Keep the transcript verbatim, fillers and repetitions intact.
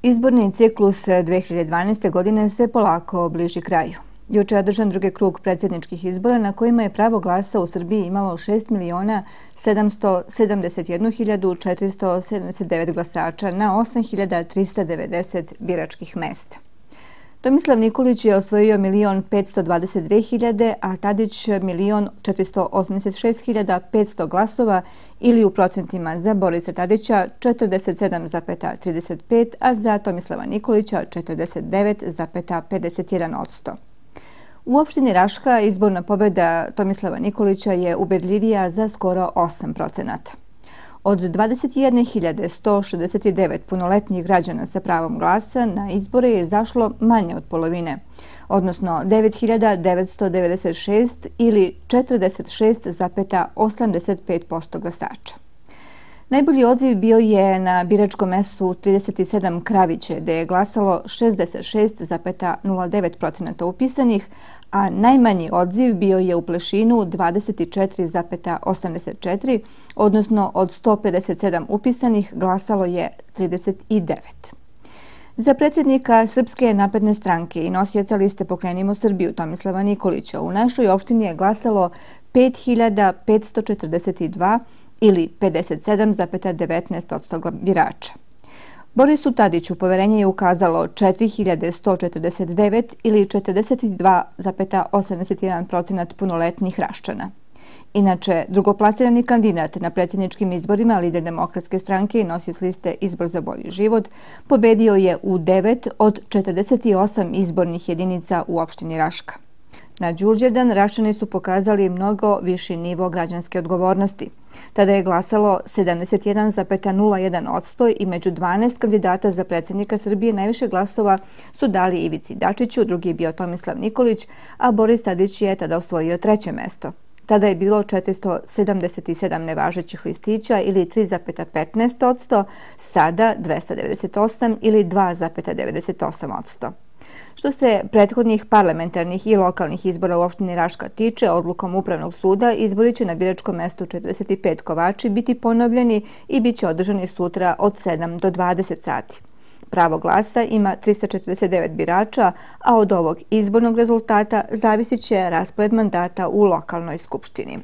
Izborni ciklus dve hiljade dvanaeste. godine se polako bliži kraju. Juče je održan drugi krug predsjedničkih izbora na kojima je pravo glasa u Srbiji imalo šest miliona sedamsto sedamdeset jednu hiljadu četiristo sedamdeset devet glasača na osam hiljada trista devedeset biračkih mesta. Tomislav Nikolić je osvojio milion petsto dvadeset dve hiljade, a Tadić milion četiristo osamdeset šest hiljada petsto glasova ili u procentima za Borisa Tadića četrdeset sedam zarez trideset pet, a za Tomislava Nikolića četrdeset devet zarez pedeset jedan posto. U opštini Raška izborna pobjeda Tomislava Nikolića je ubedljivija za skoro osam procenata. Od dvadeset jedne hiljade sto šezdeset devet punoletnih građana sa pravom glasa na izbore je izašlo manje od polovine, odnosno devet hiljada devetsto devedeset šest ili četrdeset šest zarez osamdeset pet posto glasača. Najbolji odziv bio je na biračkom mestu trideset sedam Kraviće, gde je glasalo šezdeset šest zarez nula devet procenata upisanih, a najmanji odziv bio je u Plešinu dvadeset četiri zarez osamdeset četiri, odnosno od sto pedeset sedam upisanih glasalo je trideset devet. Za predsjednika Srpske napredne stranke i nosioca liste Pokrenimo Srbiju Tomislava Nikolića u našoj opštini je glasalo pet hiljada petsto četrdeset dva ili pedeset sedam zarez devetnaest posto birača. Borisu Tadiću poverenje je ukazalo četiri hiljade sto četrdeset devet ili četrdeset dva zarez osamdeset jedan procenat punoletnih Raščana. Inače, drugoplasirani kandidat na predsjedničkim izborima lider Demokratske stranke i nosioc liste Izbor za bolji život pobedio je u devet od četrdeset osam izbornih jedinica u opštini Raška. Na Đurđevdan Raščani su pokazali mnogo viši nivo građanske odgovornosti. Tada je glasalo sedamdeset jedan zarez nula jedan posto i među dvanaest kandidata za predsjednika Srbije najviše glasova su dali Ivici Dačiću, drugi je bio Tomislav Nikolić, a Boris Tadić je tada osvojio treće mesto. Tada je bilo četiristo sedamdeset sedam nevažećih listića ili tri zarez petnaest posto, sada dvesta devedeset osam ili dva zarez devedeset osam posto. Što se prethodnih parlamentarnih i lokalnih izbora u opštini Raška tiče, odlukom Upravnog suda izbori će na biračkom mestu četrdeset pet Kovači biti ponovljeni i bit će održani sutra od sedam do dvadeset sati. Pravo glasa ima trista četrdeset devet birača, a od ovog izbornog rezultata zavisit će raspored mandata u lokalnoj skupštini.